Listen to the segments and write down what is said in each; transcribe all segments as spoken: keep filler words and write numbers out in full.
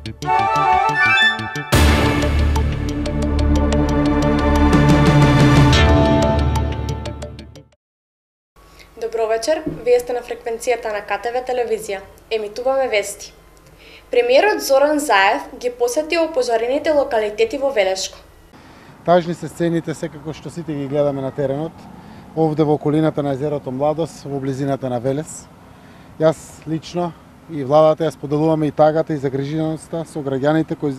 Добро вечер, вие сте на фреквенцијата на К Т В телевизија. Емитуваме вести. Премиерот Зоран Заев ги посети опожарените локалитети во Велешко. Тажни се сцените секако што сите ги гледаме на теренот, овде во околината на езерото Младост, во близината на Велес. Јас лично и владата ја споделуваме и тагата и загриженоста со граѓаните кои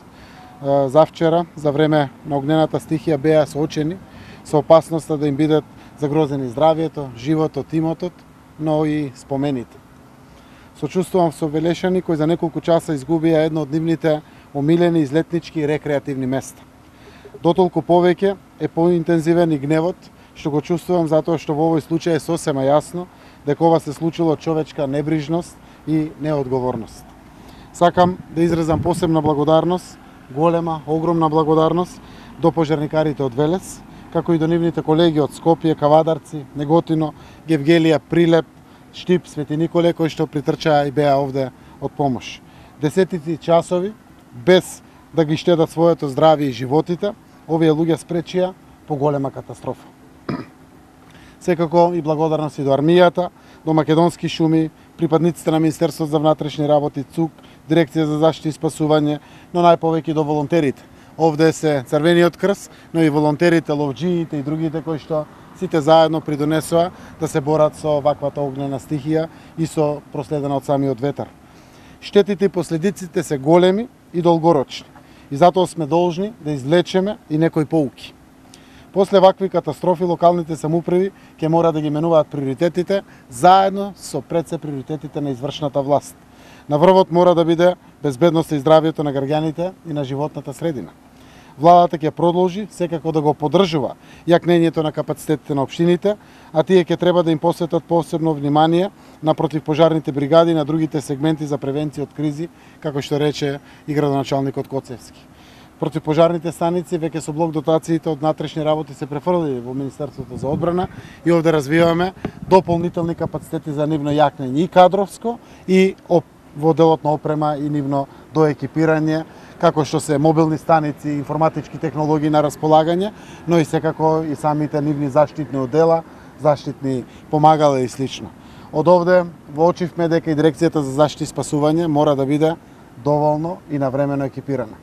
завчера, за време на огнената стихија, беа соочени со опасноста да им бидат загрозени здравието, животот, имотот, но и спомените. Сочувствувам со велешани кои за неколку часа изгубија едно од нивните омилени излетнички и рекреативни места. Дотолку повеќе е поинтензивен и гневот, што го чувствувам затоа што во овој случај е сосема јасно дека ова се случило од човечка небрижност и неодговорност. Сакам да изразам посебна благодарност, голема, огромна благодарност до пожарникарите од Велес, како и до нивните колеги од Скопје, Кавадарци, Неготино, Гевгелија, Прилеп, Штип, Свети Николе, кои што притрчаа и беа овде од помош. Десетици часови, без да ги штедат своето здравје и животите, овие луѓе спречија поголема катастрофа. Секако и благодарност и до армијата, до Македонски шуми, припадниците на Министерството за внатрешни работи, ЦУК, Дирекција за заштита и спасување, но најповеќе до волонтерите. Овде се Црвениот крст, но и волонтерите, ловџиите и другите кои што сите заедно придонесоа да се борат со ваквата огнена стихија и со проследена од самиот ветар. Штетите и последиците се големи и долгорочни и затоа сме должни да извлечеме и некои поуки. После вакви катастрофи локалните самоуправи ќе мора да ги менуваат приоритетите заедно со пред се приоритетите на извршната власт. На врвот мора да биде безбедноста и здравието на граѓаните и на животната средина. Владата ќе продолжи секако да го поддржува јакнењето на капацитетите на општините, а тие ќе треба да им посветат посебно внимание на противпожарните бригади и на другите сегменти за превенција од кризи, како што рече и градоначалникот Коцевски. Противпожарните станици веќе со блок дотациите од внатрешни работи се префрлили во Министерството за одбрана и овде развиваме дополнителни капацитети за нивно јакнење и кадровско и во делот на опрема и нивно доекипирање, како што се мобилни станици, информатички технологии на располагање, но и секако и самите нивни заштитни одела, заштитни помагала и слично. Од овде воочивме дека и Дирекцијата за заштита и спасување мора да биде доволно и навремено екипирана.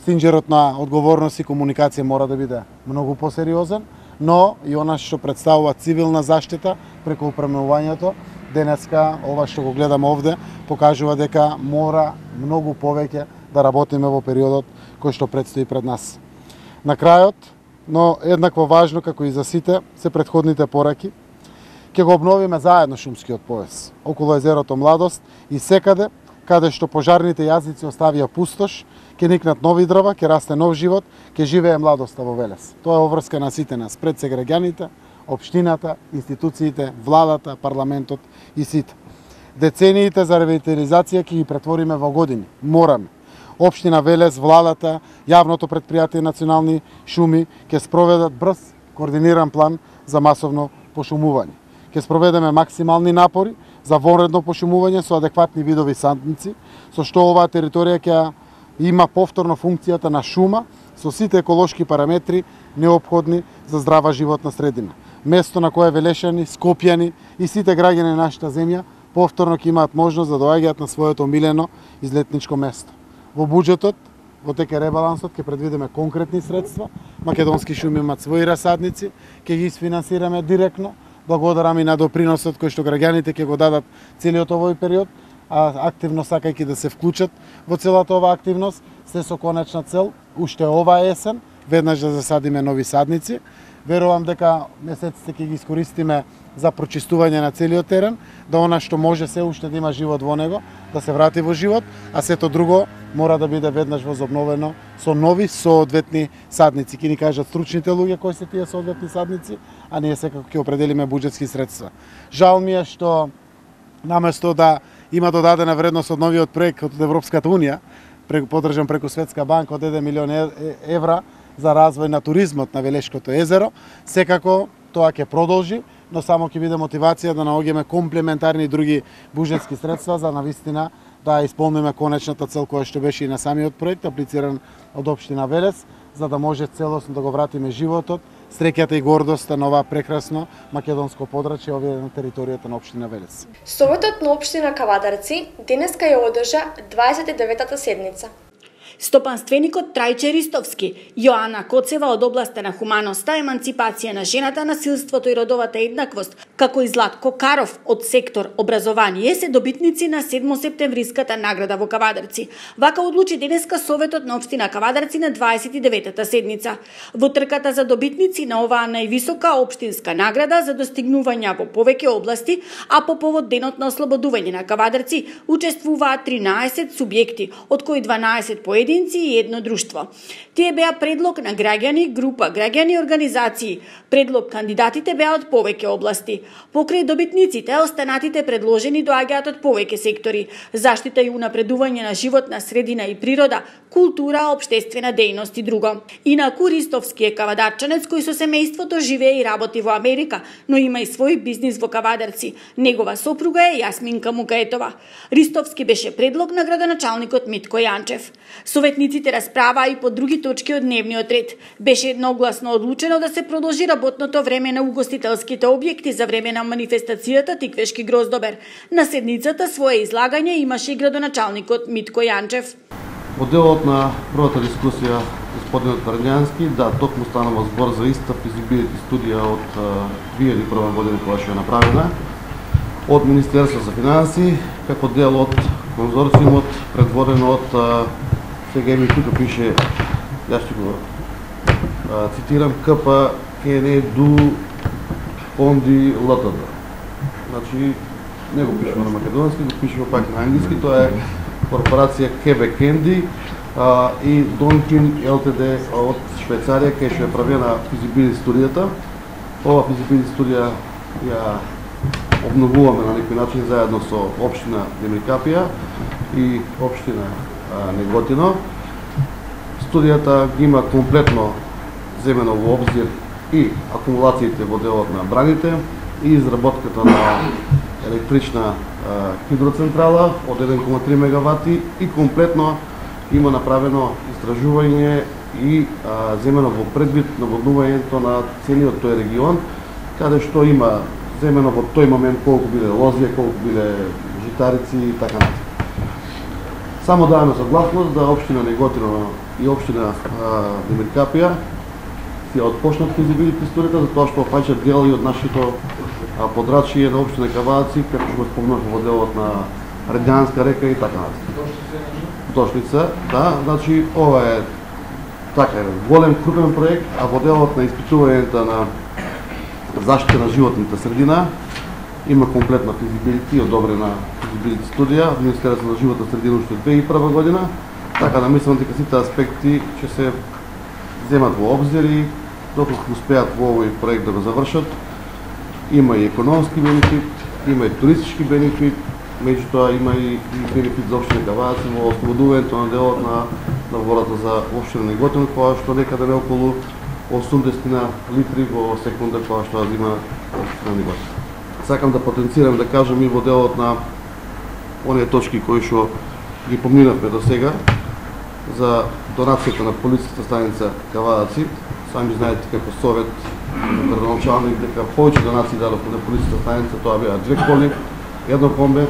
Синџерот на одговорност и комуникација мора да биде многу посериозен, но и она што представува цивилна заштита преку опремувањето, денеска ова што го гледаме овде покажува дека мора многу повеќе да работиме во периодот кој што предстои пред нас. На крајот, но еднакво важно како и за сите, се претходните пораки, ќе го обновиме заедно шумскиот пояс околу езерото Младост и секаде каде што пожарните јазици оставија пустош, ќе никнат нови дрва, ќе расте нов живот, ќе живее младоста во Велес. Тоа е обврска на сите нас, пред се граѓаните, општината, институциите, владата, парламентот и сите. Децениите за ревитализација ќе ги претвориме во години. Мораме. Општина Велес, владата, јавното претпријатие Национални шуми ќе спроведат брз, координиран план за масовно пошумување. Ќе спроведеме максимални напори за вонредно пошумување со адекватни видови садници, со што оваа територија ќе има повторно функцијата на шума со сите еколошки параметри неопходни за здрава животна средина. Место на кое велешани, скопјани и сите граѓани на нашата земја повторно ќе имаат можност да доаѓаат на своето омилено излетничко место. Во буџетот, во теке ребалансот ќе предвидиме конкретни средства. Македонски шуми имаат своји расадници, ќе ги isfinansираме директно. Благодарам и на доприносот кој што граѓаните ќе го дадат целиот овој период, а активно сакајќи да се вклучат во целата оваа активност, се со конечна цел уште оваа есен веднаш да засадиме нови садници. Верувам дека месеците ќе ги искористиме за прочистување на целиот терен, да она што може се уште да има живот во него, да се врати во живот, а сето друго мора да биде веднаш возобновено со нови соодветни садници. Ќе ни кажат стручните луѓе кои се тие соодветни садници, а ние секако ќе определиме буџетски средства. Жал ми е што наместо да има додадена вредност од новиот проект од Европската унија, поддржан преку Светска банка од еден милион евра за развој на туризмот на Велешкото езеро, секако тоа ќе продолжи, но само ќе биде мотивација да наоѓаме комплементарни други буџетски средства за навистина да исполниме конечната цел која што беше и на самиот проект, аплициран од општина Велес, за да може целосно да го вратиме животот, среќата и гордоста на ова прекрасно македонско подрачје овие на територијата на општина Велес. Советот на општина Кавадарци денеска ја одржа дваесет и деветата седница. Стопанственикот Трајче Ристовски, Јоана Коцева од областа на хуманоста, еманципација на жената, насилството и родовата еднаквост, како и Златко Каров од сектор образование се добитници на седмосептемвриската награда во Кавадарци. Вака одлучи денеска Советот на општина Кавадарци на дваесет и деветата седница. Во трката за добитници на оваа највисока општинска награда за достигнувања во повеќе области, а по повод денот на ослободување на Кавадарци, учествуваат тринаесет субјекти, од кои дванаесет поединци и едно друштво. Тие беа предлог на граѓани, група граѓани и организации. Предлог кандидатите беа од повеќе области. Покрај добитниците, останатите предложени доаѓаат од повеќе сектори: заштита и унапредување на животна средина и природа, култура, општествена дејност и друго. Инаку Ристовски е кавадарчанец кој со семејството живее и работи во Америка, но има и свој бизнис во Кавадарци. Негова сопруга е Јасминка Мукаетова. Ристовски беше предлог на градоначалникот Митко Јанчев. Советниците расправаа и по други точки од дневниот ред. Беше едногласно одлучено да се продолжи работното време на угостителските објекти за време на манифестацијата Тиквешки гроздобер. На седницата свое излагање имаше и градоначалникот Митко Јанчев. Во делот на првата дискусија, господинот Варњански, да, токму станува збор за иста физибилити студија од две илјади и прва година која што е направена од Министерство за финансии, како дел од конзорциумот предводено од сега ми тука пише, ја ќе го цитирам, КП КН ДУ Фонди ЛТД. Значи, не го пишемо на македонски, го пишемо пак на англиски, тоа е корпорација Quebec Candy а, и Донкин ЛТД од Швајцарија, кај што е правена физибилити студијата. Ова физибилити студија ја обновуваме на некој начин заедно со општина Демиркапија и општина а, Неготино. Студијата ги има комплетно земено во обзир и акумулациите во делот на браните и изработката на електрична а, хидроцентрала од еден кома три мегавати и комплетно има направено истражување и а, земено во предвид наводнувањето на целиот тој регион, каде што има земено во тој момент колку биле лозија, колку биле житарици и така натаму. Само даваме согласност да општина Неготино и општина Демиркапија ќе отпочнат физибилити студијата, затоа што опаѓаат дел и од нашето подрачје на општина Кавадарци, како што го спомнав во делот на Редјанска река и така натаму. Дошлица, да, значи ова е така е голем крупен проект, а во делот на испитувањето на заштита на животната средина има комплетна физибилити, одобрена физибилити студија од Министерството на животна средина уште две илјади и прва година, така да мислам дека сите аспекти ќе се земат во обзир и доколку успеат во овој проект да го завршат, има и економски бенефит, има и туристички бенефит, меѓутоа има и, и бенефит за општина Кавадарци во ослободувањето на делот на, на волата за општина Неготино, која што некаде не околу осумдесет литри во секунда која што ја зима општина Неготино. Сакам да потенцирам да кажам и во делот на оние точки кои што ги поминавме до сега за донацијата на полицијската станица Кавадарци. Сами знаете како совет градоначалник дека повеќе донации дадовме на полицијската станица, тоа беа две коли, едно комбе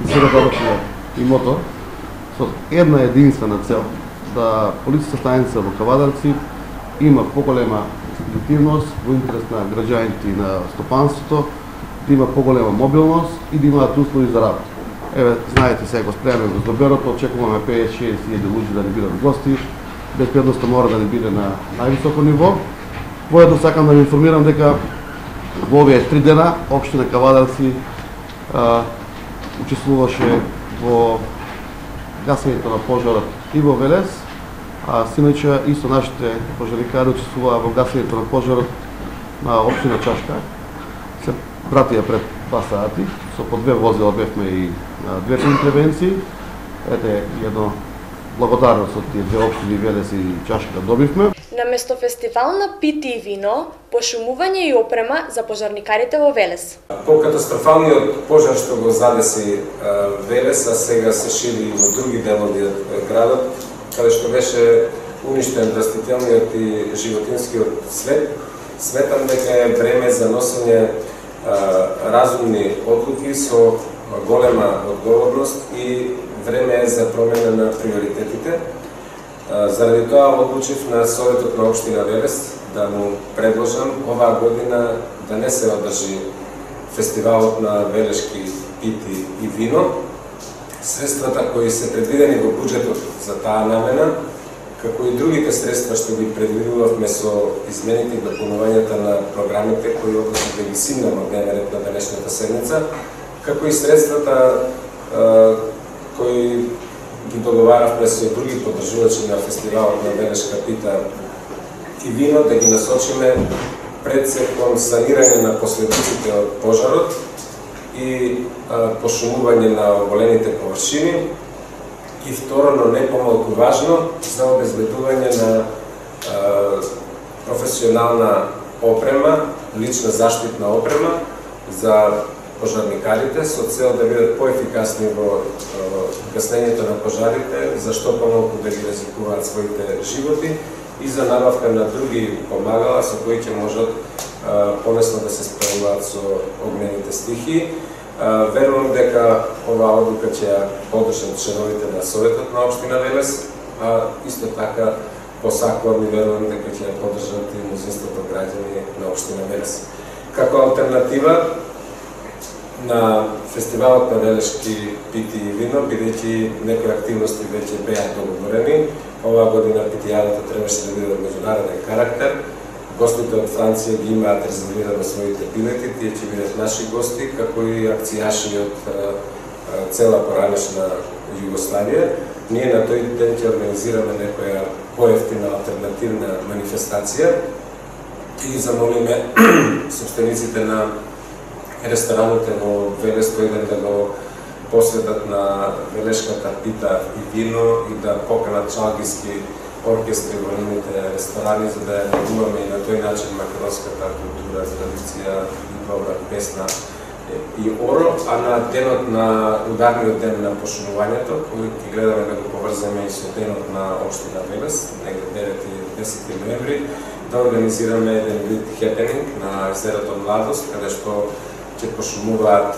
и сега дадовме и мотор со една единствена цел да полицијската станица во Кавадарци има поголема ефективност во интерес на граѓаните и на стопанството, да има поголема мобилност и да имаат услови за работа. Еве, знаете, сега го спремаме гроздоберот, очекуваме петдесет до шеесет илјади луѓе да ни бидат гости, безбедноста мора да ни биде на највисоко ниво. Воедно сакам да ви информирам дека во овие три дена општина Кавадарци а, учествуваше во гасењето на пожарот и во Велес, а синоќа и со нашите пожарникари учествуваа во гасењето на пожарот на општина Чашка. Се пратија пред два сати, со по две возила бевме и на двете интервенции. Ете, едно благодарност од тие две општини Велес и Чашка добивме. Наместо фестивал на пити и вино, пошумување и опрема за пожарникарите во Велес. По катастрофалниот пожар што го задеси Велес, а сега се шири и во други делови од градот, каде што беше уништен растителниот и животинскиот свет, сметам дека е време за носење разумни одлуки со голема одговорност и време е за промена на приоритетите. Заради тоа одлучив на Советот на општина Велес да му предложам оваа година да не се одржи фестивалот на велешки пити и вино. Средствата кои се предвидени во буџетот за таа намена, како и другите средства што ги предвидувавме со измените и дополнувањата на програмите кои односно да ги симнам од дневен ред на денешната седница, како и средствата кои ги договаравме со други поддржувачи на фестивалот на велешка пита и вино, да ги насочиме пред се кон санирање на последиците од пожарот и а, пошумување на оголените површини и второ, но не помалку важно, за обезбедување на а, професионална опрема, лична заштитна опрема за пожарникарите со цел да бидат поефикасни во гаснењето на пожарите, зашто помалку да ги ризикуваат своите животи и за набавка на други помагала со кои ќе можат полесно да се справуваат со огнените стихии. Верувам дека оваа одлука ќе ја поддржат членовите на Советот на општина Велес, а исто така посакувам и верувам дека ќе ја поддржат и мнозинството граѓани на општина Велес. Како алтернатива на фестивалот на велешки пити и вино, бидејќи некои активности веќе беа договорени, оваа година питијадата требаше да биде од меѓународен карактер. Гостите од Франција ги имаат резервирано своите билети, тие ќе бидат наши гости, како и акцијаши од цела поранешна Југославија. Ние на тој ден ќе организираме некоја поевтина алтернативна манифестација и замолиме собствениците на рестораните во Велес тој ден да го посветат на велешката пита и вино и да поканат чалгиски оркестри во нивните ресторани, за да ја негуваме и на тој начин македонската култура, традиција и добра песна и оро, а на денот на ударниот ден на пошумувањето, кој ќе гледаме да го поврземе и со денот на општина Велес, негде девети и десети ноември, да организираме еден вид хепенинг на езерото Младост, каде што ќе пошумуваат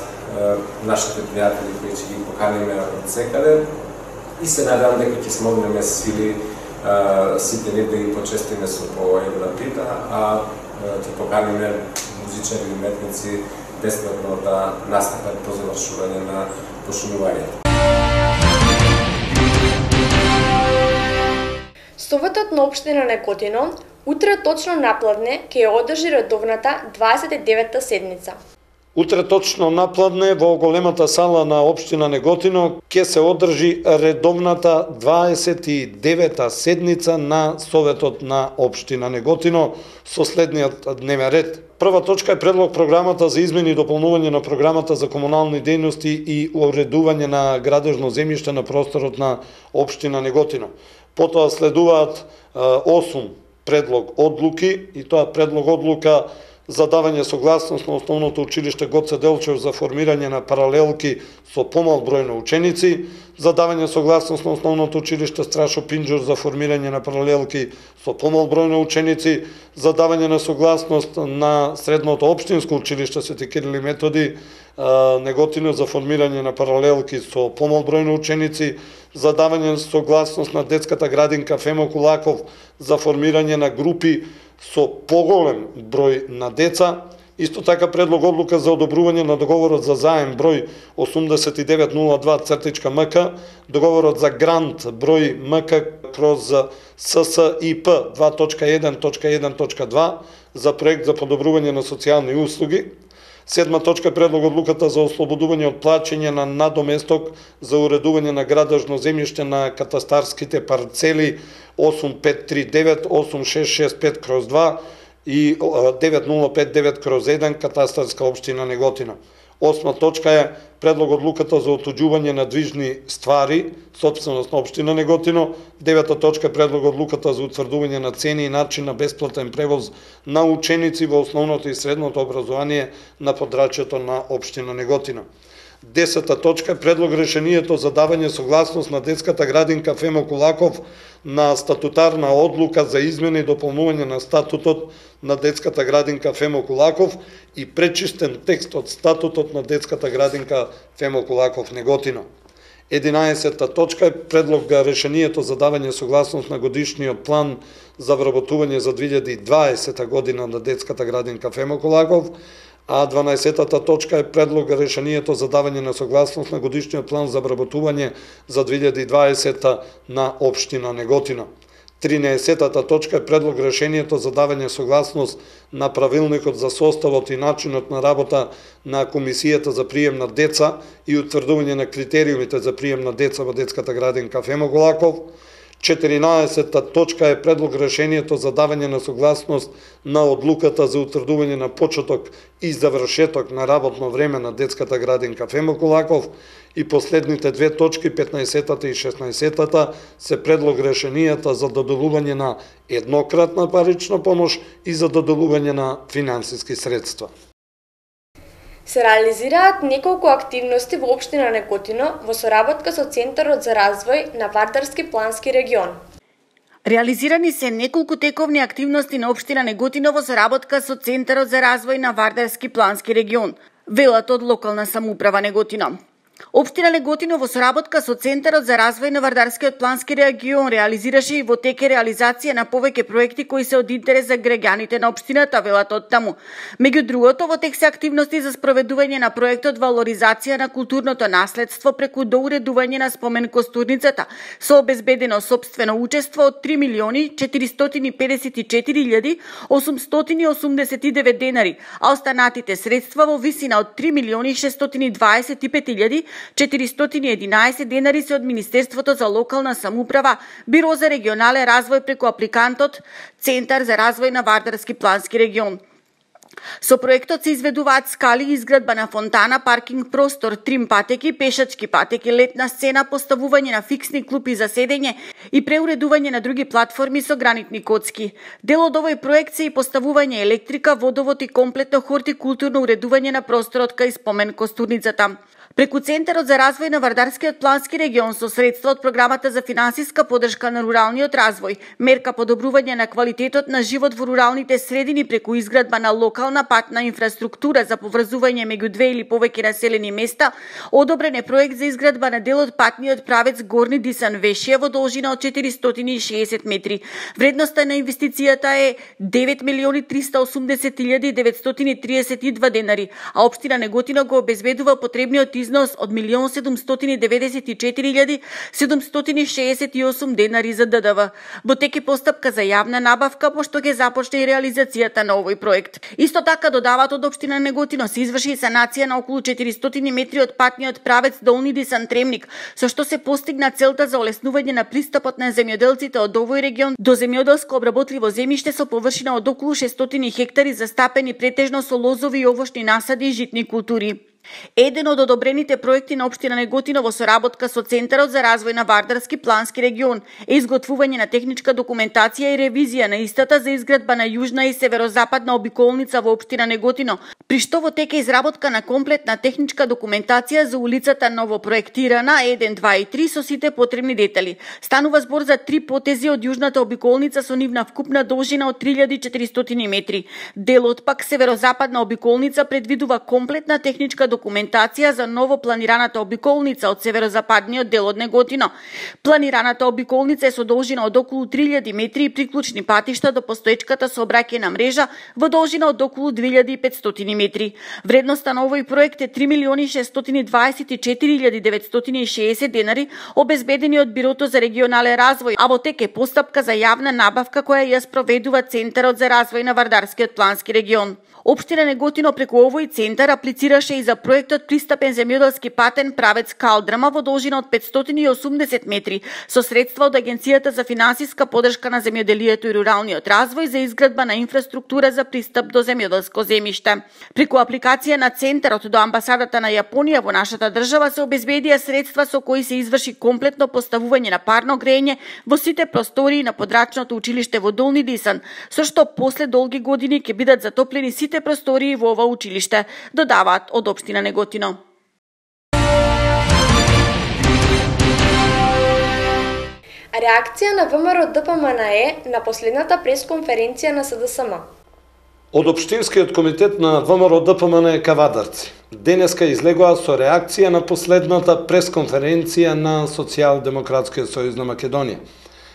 нашите пријатели кои ќе ги поканиме од секаде и се надам дека ќе смогнеме сили сите ние да ги почестиме со по една пита, а ќе поканиме музичари и уметници бесплатно да настапат по завршување на пошумувањето. Советот на општина Неготино утре точно напладне ќе ја одржи редовната дваесет и девета седница. Утре точно напладне во големата сала на општина Неготино ќе се одржи редовната дваесет и девета седница на Советот на општина Неготино со следниот дневен ред. Прва точка е предлог програмата за измени и дополнување на програмата за комунални дејности и уредување на градежно земјиште на просторот на општина Неготино. Потоа следуваат осум предлог одлуки и тоа предлог одлука за давање согласност на Основното училиште Гоце Делчев за формирање на паралелки со помал број на ученици, за давање согласност на Основното училиште Страшо Пинџур за формирање на паралелки со помал број на ученици, за давање на согласност на Средното општинско училиште Свети Кирил и Методи Неготино за формирање на паралелки со помал број на ученици, за давање согласност на детската градинка Фемо Кулаков за формирање на групи со поголем број на деца. Исто така предлог одлука за одобрување на договорот за заем број осумдесет и девет нула два МК, договорот за грант број МК кроз ССИП два точка еден точка еден точка два за проект за подобрување на социјални услуги. Седма точка предлог одлуката за ослободување од плаќање на надоместок за уредување на градежно земјиште на катастарските парцели осум пет три девет осум шест шест пет кроз два и девет нула пет девет кроз еден катастарска општина Неготино. Осма точка е предлог одлуката за отуѓување на движни ствари, собственост на општина Неготино. Девета точка е предлог одлуката за утврдување на цени и начин на бесплатен превоз на ученици во основното и средното образование на подрачјето на општина Неготино. Десета точка е предлог решението за давање согласност на детската градинка Фемо Кулаков на статутарна одлука за измена и дополнување на статутот на детската градинка Фемо Кулаков и пречистен текст од статутот на детската градинка Фемо Кулаков Неготино. единаесета точка е предлог решението за давање согласност на годишниот план за вработување за две илјади и дваесета година на детската градинка Фемо Кулаков, а дванаесетата точка е предлог решението за давање на согласност на годишниот план за вработување за две илјади и дваесета на општина Неготино. тринаесетата точка е предлог решението за давање согласност на правилникот за составот и начинот на работа на Комисијата за прием на деца и утврдување на критериумите за прием на деца во детската градинка Фемо Кулаков. четиринаесета точка е предлог решението за давање на согласност на одлуката за утврдување на почеток и завршеток на работно време на детската градинка Фемо Кулаков. И последните две точки, петнаесетата и шеснаесетата, се предлог решенијата за доделување на еднократна парична помош и за доделување на финансиски средства. Се реализираат неколку активности во општина Неготино во соработка со Центарот за развој на Вардарски плански регион. Реализирани се неколку тековни активности на општина Неготино во соработка со Центарот за развој на Вардарски плански регион, велат од локална самоуправа Неготино. Општина Неготино во соработка со Центарот за развој на Вардарскиот плански регион реализираше и во теке реализација на повеќе проекти кои се од интерес за граѓаните на општината, велат од таму. Меѓу другото, во тек се активности за спроведување на проектот валоризација на културното наследство преку доуредување на спомен костурницата, со обезбедено сопствено учество од три милиони четиристотини педесет и четири илјади осумстотини осумдесет и девет денари, а останатите средства во висина од три милиони шестстотини дваесет и пет илјади четиристотини и единаесет денари се од Министерството за локална самоуправа, Биро за регионален развој преку апликантот Центар за развој на Вардарски плански регион. Со проектот се изведуваат скали, изградба на фонтана, паркинг простор, трим патеки, пешачки патеки, летна сцена, поставување на фиксни клупи за седење и преуредување на други платформи со гранитни коцки. Дел од овој проект се и поставување електрика, водовод и комплетно хортикултурно уредување на просторот кај спомен костурницата. Преку Центарот за развој на Вардарскиот плански регион со средства од програмата за финансиска подршка на руралниот развој, мерка подобрување на квалитетот на живот во руралните средини преку изградба на локална патна инфраструктура за поврзување меѓу две или повеќе населени места, одобрен е проект за изградба на дел од патниот правец Горни Дисан Вешија во должина од четиристотини и шеесет метри. Вредноста на инвестицијата е девет милиони триста осумдесет илјади деветстотини триесет и два денари, а општина Неготино го обезбедува потребниот износ од милион седумстотини деветдесет и четири илјади седумстотини шеесет и осум денари за Д Д В. Во теке постапка за јавна набавка, пошто ќе започне и реализацијата на овој проект. Исто така додават од општина Неготино се изврши и санација на околу четиристотини метри од патниот правец Долни Дисан Тремник, со што се постигна целта за олеснување на пристапот на земјоделците од овој регион до земјоделско обработливо земјиште со површина од околу шестстотини хектари застапени претежно со лозови и овошни насади и житни култури. Еден од одобрените проекти на општина Неготино во соработка со Центарот за развој на Вардарски плански регион е изготвување на техничка документација и ревизија на истата за изградба на јужна и северозападна обиколница во општина Неготино, при што во тек е изработка на комплетна техничка документација за улицата новопроектирана еден, два и три со сите потребни детали. Станува збор за три потези од јужната обиколница со нивна вкупна должина од три илјади и четиристотини метри. Делот пак северозападна обиколница предвидува комплетна техничка документација за ново планираната обиколница од северозападниот дел од Неготино. Планираната обиколница е со должина од околу три илјади метри и приклучни патишта до постоечката сообраќајна мрежа во должина од околу две илјади и петстотини метри. Вредноста на овој проект е три милиони шестстотини дваесет и четири илјади деветстотини и шеесет денари, обезбедени од Бирото за регионален развој, а во тек е постапка за јавна набавка која ја спроведува Центарот за развој на Вардарскиот плански регион. Општина Неготино преку овој центар аплицираше и за проектот Пристапен земјоделски патен правец Калдрама во должина од петстотини и осумдесет метри со средства од Агенцијата за финансиска поддршка на земјоделието и руралниот развој за изградба на инфраструктура за пристап до земјоделско земјиште. Преку апликација на центарот до амбасадата на Јапонија во нашата држава се обезбедија средства со кои се изврши комплетно поставување на парно грејење во сите простории на подрачното училиште во Долни Дисан, со што после долги години ќе бидат затоплени сите простории во ова училиште, додаваат од општина Неготино. Реакција на ВМРО Д П М Н Е на последната пресконференција на С Д С М. Од Општинскиот комитет на ВМРО Д П М Н Е Кавадарци денеска излегоа со реакција на последната пресконференција на Социјалдемократскиот сојуз на Македонија.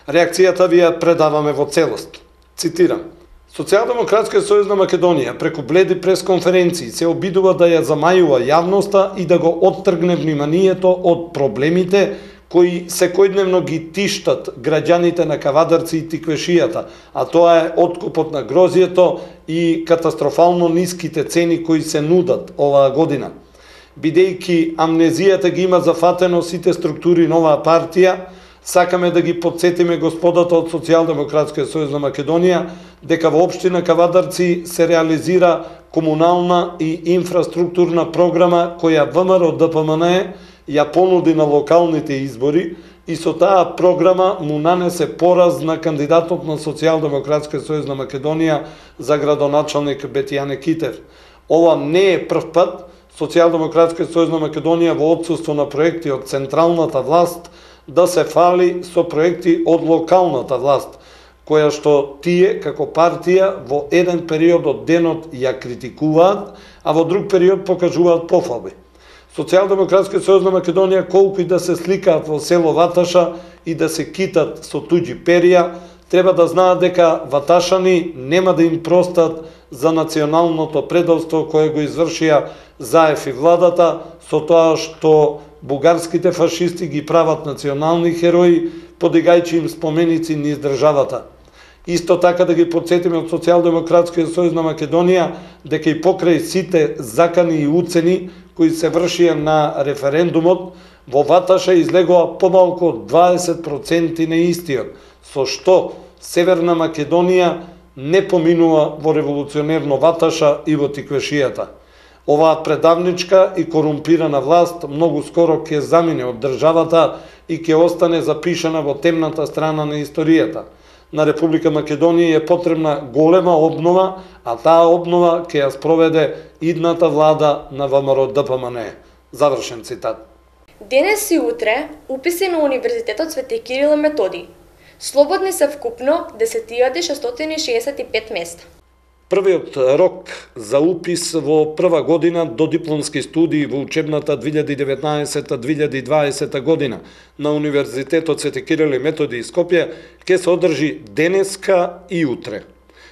Реакцијата ви ја предаваме во целост. Цитирам: Социјалдемократскиот сојуз на Македонија преку бледи пресконференции се обидува да ја замајува јавноста и да го оттргне вниманието од проблемите кои секојдневно ги тиштат граѓаните на Кавадарци и Тиквешијата, а тоа е откупот на грозието и катастрофално ниските цени кои се нудат оваа година. Бидејќи амнезијата ги има зафатено сите структури на оваа партија, сакаме да ги подсетиме господата од Социјалдемократскиот сојуз на Македонија дека во општина Кавадарци се реализира комунална и инфраструктурна програма која ВМРО Д П М Н Е ја понуди на локалните избори и со таа програма му нанесе пораз на кандидатот на Социјалдемократскиот сојуз на Македонија за градоначалник Бетијане Китев. Ова не е прв пат Социјалдемократскиот сојуз на Македонија во отсуство на проекти од централната власт да се фали со проекти од локалната власт, која што тие како партија во еден период од денот ја критикуваат, а во друг период покажуваат пофалби. Социјалдемократскиот сојуз на Македонија, колку и да се сликаат во село Ваташа и да се китат со туѓи перија, треба да знаат дека ваташани нема да им простат за националното предавство кое го извршија Заев и владата со тоа што бугарските фашисти ги прават национални херои, подигајќи им споменици низ државата. Исто така да ги подсетиме од Социјалдемократскиот сојуз на Македонија дека и покрај сите закани и уцени кои се вршија на референдумот, во Ваташа излегоа помалку од дваесет проценти на истиот, со што Северна Македонија не поминува во револуционерно Ваташа и во Тиквешијата. Оваа предавничка и корумпирана власт многу скоро ќе замине од државата и ќе остане запишана во темната страна на историјата. На Република Македонија е потребна голема обнова, а таа обнова ќе ја спроведе идната влада на ВМРО Д П М Н Е. Завршен цитат. Денес и утре уписи на Универзитетот Свети Кирил и Методиј. Слободни се вкупно десет илјади шестстотини шеесет и пет места. Првиот рок за упис во прва година до дипломски студии во учебната две илјади и деветнаесета две илјади и дваесета година на Универзитетот Свети Кирил и Методиј Скопје ќе се одржи денеска и утре.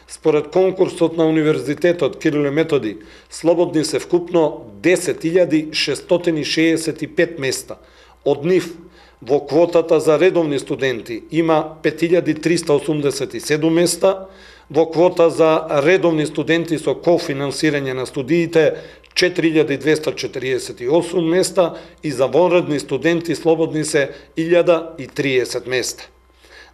Според конкурсот на Универзитетот Кирил и Методиј, слободни се вкупно десет илјади шестстотини шеесет и пет места. Од нив во квотата за редовни студенти има пет илјади триста осумдесет и седум места, во квота за редовни студенти со кофинансирање на студиите четири илјади двесте четириесет и осум места и за вонредни студенти слободни се илјада и триесет места.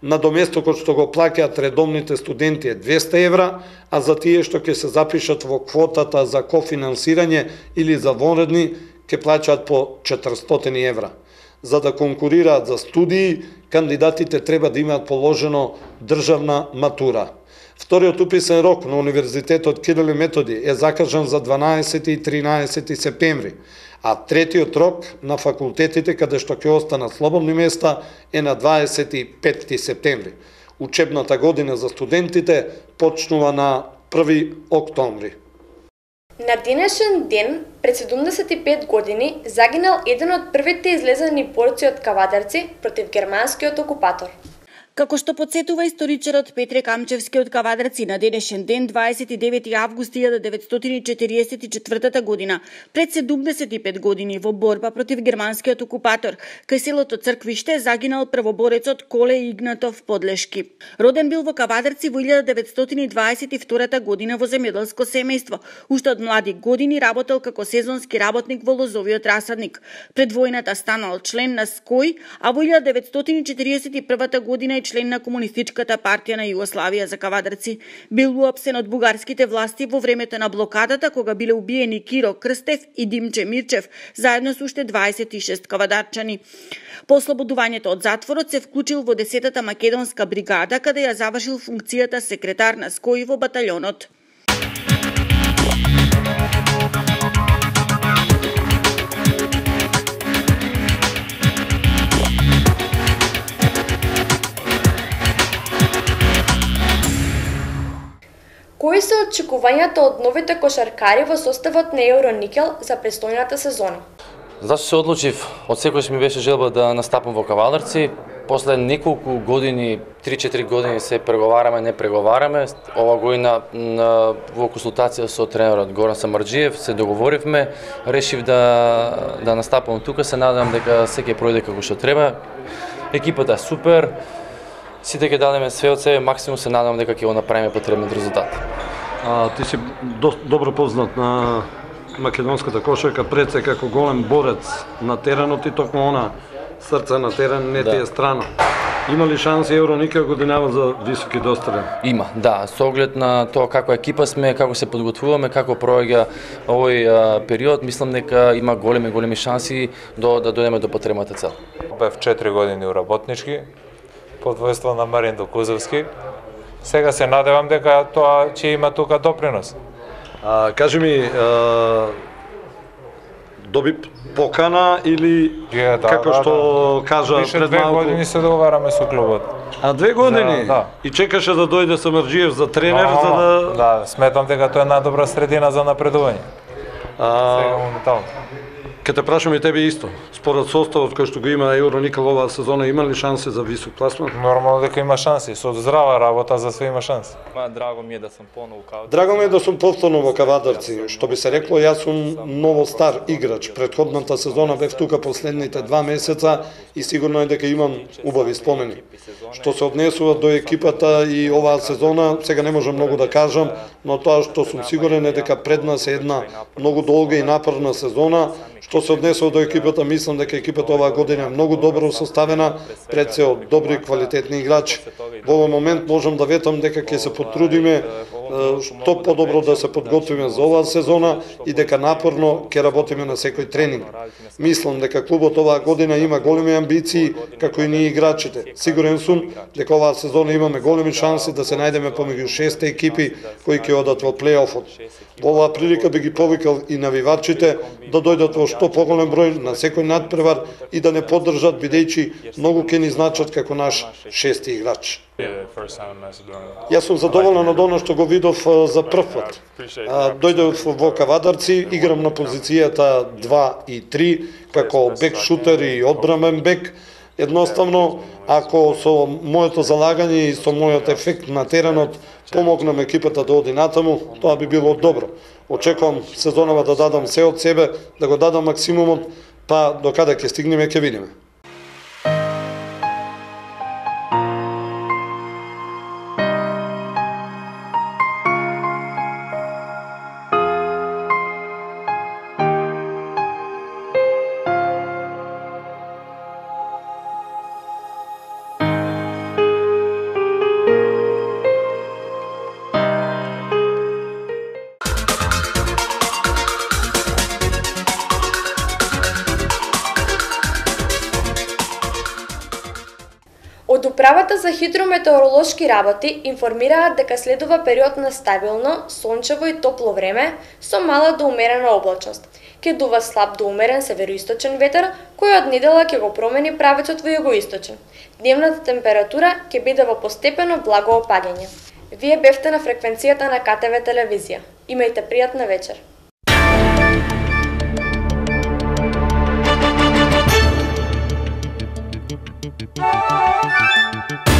Надоместокот што го плаќаат редовните студенти е двесте евра, а за тие што ќе се запишат во квотата за кофинансирање или за вонредни ќе плаќаат по четиристотини евра. За да конкурираат за студии, кандидатите треба да имаат положено државна матура. Вториот уписен рок на Универзитетот Кирил и Методиј е закажан за дванаесети и тринаесети септември, а третиот рок на факултетите каде што ќе останат слободни места е на дваесет и пети септември. Учебната година за студентите почнува на први октомври. На денешен ден, пред седумдесет и пет години, загинал еден од првите излезени борци од Кавадарци против германскиот окупатор. Како што потсетува историчарот Петре Камчевски од Кавадарци, на денешен ден, дваесет и девети август илјада деветстотини и четириесет и четвртата година, пред седумдесет и пет години во борба против германскиот окупатор, кај селото Црквиште загинал првоборецот Коле Игнатов Подлешки. Роден бил во Кавадарци во илјада деветстотини дваесет и втора година во земјоделско семејство. Уште од млади години работел како сезонски работник во лозовиот расадник. Пред војната станал член на СКОј, а во илјада деветстотини и четириесет и прва година член на Комунистичката партија на Југославија за Кавадарци. Бил уапсен од бугарските власти во времето на блокадата, кога биле убиени Киро Крстев и Димче Мирчев, заедно со уште дваесет и шест кавадарчани. По ослободувањето од затворот се вклучил во десетата македонска бригада, каде ја завршил функцијата секретар на СКОј во баталјонот. Кои се очекувањата од новите кошаркари во составот на Евроникел за престојната сезона? Зашто се одлучив? Од секојаш ми беше желба да настапам во Кавадарци. После неколку години, три-четири години се преговараме, не преговараме. Ова година во консултација со тренерот Горан Самарџиев се договоривме, решив да да настапам тука, се надевам дека се ќе пројде како што треба. Екипата е супер. Сите ќе дадеме све од себе, максимум се надам дека ќе го направиме потребниот резултат. А, ти си до, добро познат на македонската кошарка, пред се како голем борец на теренот и токму она срце на терен не ти е страна. Има ли шанси Евроникел годинава за високи дострели? Има, да. Со оглед на тоа како екипа сме, како се подготвуваме, како проаѓа овој а, период, мислам дека има големи големи шанси до да дојдеме до потребната цел. Бев четири години у работнички под војство на Марин Докузовски. Сега се надевам дека тоа ќе има тука допринос. А, кажи ми, а, доби покана или Je, да, како да, што да. кажа Више пред две малку? години се договараме со клубот. А две години? Да, да. И чекаше да дојде Самарџиев за тренер, Но, за да... Да, сметам дека тоа е најдобра средина за напредување. А, Сега моментално. Ке те прашам и тебе исто. Според составот кој што го има Евроникел оваа сезона, има ли шанси за висок пласман? Нормално дека има шанси, со здрава работа за све има шанси. Драго ми е да сум поново у Кавадарци. Драго ми е да сум повторно во Кавадарци. Што би се рекло, јас сум ново стар играч. Предходната сезона бев тука последните два месеца и сигурно е дека имам убави спомени. Што се однесува до екипата и оваа сезона, сега не можам многу да кажам, но тоа што сум сигурен е дека пред нас е една многу долга и напорна сезона. Што се однесува до екипата, мислам дека екипата оваа година е многу добро составена, пред се од добри квалитетни играчи. Во овој момент можам да ветам дека ќе се потрудиме што подобро да се подготвиме за оваа сезона и дека напорно ќе работиме на секој тренинг. Мислам дека клубот оваа година има големи амбиции, како и ние играчите. Сигурен сум дека оваа сезона имаме големи шанси да се најдеме помеѓу шесте екипи кои ќе одат во плејофот. Во оваа прилика би ги повикал и навивачите да дојдат во што поголем број на секој надпревар и да не поддржат, бидејќи многу ќе ни значат како наш шести играч. Јас сум задоволен од оно што го видов за прв пат. Дојдов во Кавадарци, играм на позицијата два и три, како бек шутер и одбранен бек. Едноставно, ако со моето залагање и со мојот ефект на теренот помогнам екипата да оди натаму, тоа би било добро. Очекувам сезонава да дадам се од себе, да го дадам максимумот, па до каде ќе стигнеме ќе видиме. Од управата за хидрометеоролошки работи информираат дека следува период на стабилно, сончево и топло време со мала до умерена облачност. Ќе дува слаб до умерен североисточен ветер, кој од недела ќе го промени правецот во југоисточен. Дневната температура ќе биде во постепено благо опаѓање. Вие бевте на фреквенцијата на К Т В телевизија. Имајте пријатна вечер. We'll be right back.